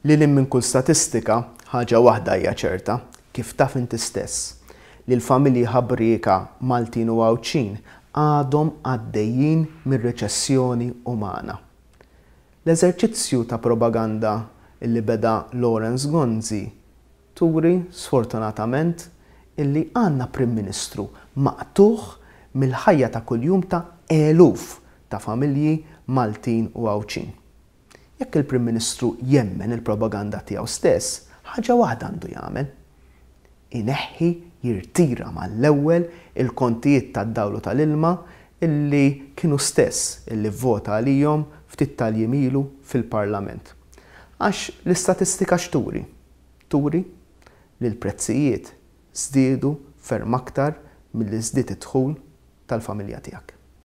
Lil hinn minn kull statistika, ħaġa waħda hija ċerta, kif taf inti stess, li l-familji ħabrieka Maltin u Għawdxin għadhom għaddejjin mir-reċessjoni umana. L-eżerċizzju ta' propaganda illi beda Lawrence Gonzi turi, sfortunatament, illi għandna Prim Ministru maqtugħ mill-ħajja ta' kuljum ta' eluf ta' familji Maltin u Għawdxin. Jekk il-Prim Ministru jemmen il-propaganda tiegħu stess, ħaġa waħda għandu jagħmel. Ineħħi, jirtira mal-ewwel il-kontijiet tad-dawl u tal-ilma illi kien hu stess illi vvota għalihom ftit tal-jiem ilu fil-Parlament. Għax l-istatistika x'turi? Turi li l-prezzijiet żdiedu ferm aktar milli żdied id-dħul tal-familja tiegħek.